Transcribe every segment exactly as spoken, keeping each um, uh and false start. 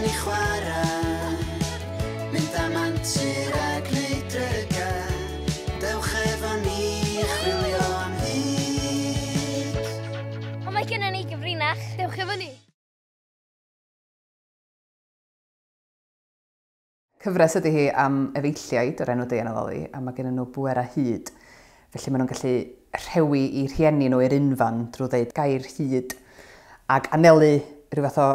allan i chwarae, mynd am antur a gwneud dryga. Dewch efo ni chwilio am hyd. O, mae gennym ni gyfrinach. Dewch efo ni. Cyfres ydy hi am efeilliaid o'r enw Deian a Loli, a mae gen nhw bwerau hud. Felly maen nhw'n gallu rhewi i rhieni nhw i'r unfan drwy ddeud gair hud ac anelu rhyw fath o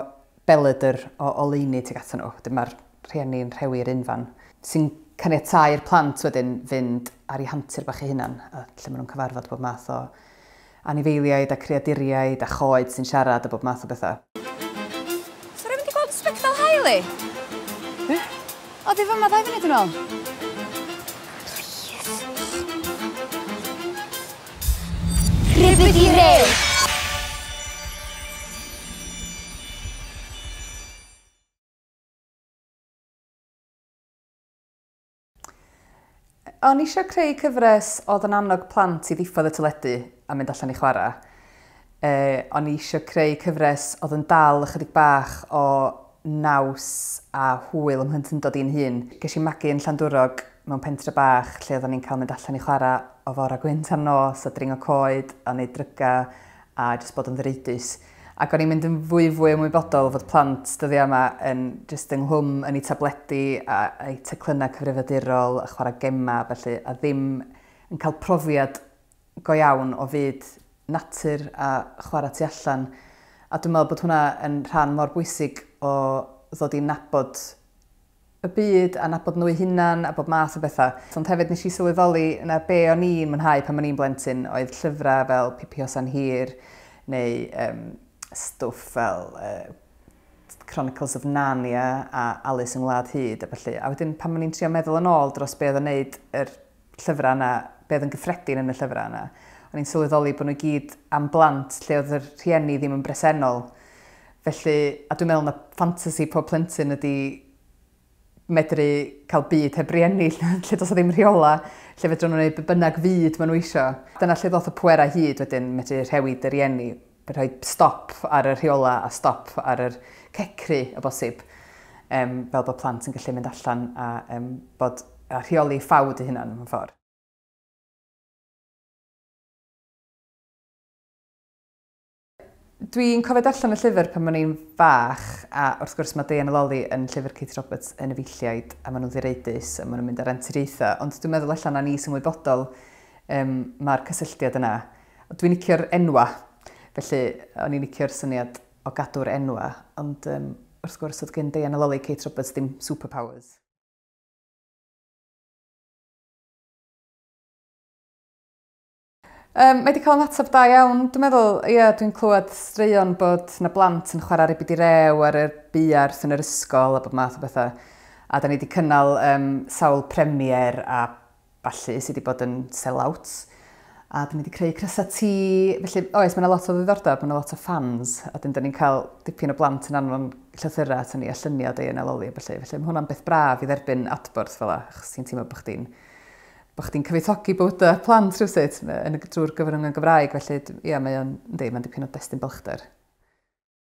belydr o oleuni tuag atyn nhw. Wedyn mae'r rhieni'n rhewi i'r unfan, sy'n caniatáu i'r plant wedyn fynd ar eu hantur bach eu hunan, a lle maen nhw'n cyfarfod bob math o anifeiliaid a creaduriaid a choed sy'n siarad a bob math o bethau. So rhaid mynd i gweld sbectol haul i? Be? O, di fyma ddau funud yn ôl. Please. Rhybyd i rew! O'n i eisiau creu cyfres oedd yn annog plant i ddiffodd y teledu a mynd allan i chwarae. E, o'n i eisiau creu cyfres oedd yn dal ychydig bach o naws a hwyl ym mhlentyndod i'n hun. Ges i magu yn Llandwrog mewn pentre bach lle oedden ni'n cael mynd allan i chwarae o fora gwynt ar nos a dringo coed a neud dryga a jyst bod yn ddireidus. Ac o'n i'n mynd yn fwy fwy ymwybodol fod plant dyddiau yma yn jyst ynghlwm yn eu tabledi a eu teclynnau cyfrifiadurol a chwarae gemau felly, a ddim yn cael profiad go iawn o fyd natur a chwarae tu allan. A dwi'n meddwl bod hwnna yn rhan mor bwysig o ddod i nabod y byd a nabod nhw eu hunan a bob math o bethau. Ond hefyd nes i sylweddoli na be o'n i'n mwynhau pan o'n i'n blentyn oedd llyfrau fel Pippi Hosan Hir neu um, stwff fel uh, Chronicles of Narnia a Alice yng Ngwlad Hud a felly. A wedyn pan o'n i'n trio meddwl yn ôl dros be oedd yn neud yr llyfrau yna, be oedd yn gyffredin yn y llyfrau yna, o'n i'n sylweddoli bod nhw i gyd am blant lle oedd yr rhieni ddim yn bresennol. Felly, a dwi'n meddwl na ffantasi pob plentyn ydy medru cael byd heb rieni, lle does 'na ddim rheola, lle fedrwn nhw wneud be bynnag fyd maen nhw isio. Dyna lle ddoth y pwerau hud wedyn, medru rhewi dy rieni, rhoi stop ar y rheola a stop ar yr cecru o bosib, um, fel bod plant yn gallu mynd allan a, um, bod, a rheoli ffawd eu hunan mewn ffordd. Dwi'n cofio darllen y llyfr pan o'n i'n fach, a wrth gwrs mae Deian a Loli yn llyfr Kate Roberts yn efeilliaid, a maen nhw'n ddireidus, a maen nhw'n mynd ar anturiaethau, ond dwi'n meddwl allan na ni sy'n wyboddol um, mae'r cysylltiad yna. Dwi'n licio'r enwa, felly o'n i'n licio'r syniad o gadw'r enwa, ond um, wrth gwrs oedd gen Deian a Loli Kate Roberts ddim superpowers. Um, mae wedi cael ymateb da iawn. Dwi'n meddwl, ie, dwi'n clywed straeon bod na blant yn chwarae ribidi rew ar y buarth yn yr ysgol a bob math o bethau. A da ni wedi cynnal um, sawl premier a ballu sydd wedi bod yn sell-outs. A da ni wedi creu crysau T. Felly, oes, mae yna lot o ddiddordeb, mae yna lot o fans. A dyn, da ni'n cael dipyn o blant yn anfon llythyrau aton ni a lluniau Deian a Loli a ballu. Felly, mae hwnna'n beth braf i dderbyn adborth fel 'a, achos ti'n teimlo bod chdi'n bod chdi'n cyfoethogi bywydau plant rhywsut yn y drwy'r gyfrwng y Gymraeg, felly ie, mae o'n, yndi, mae'n dipyn o destun balchder.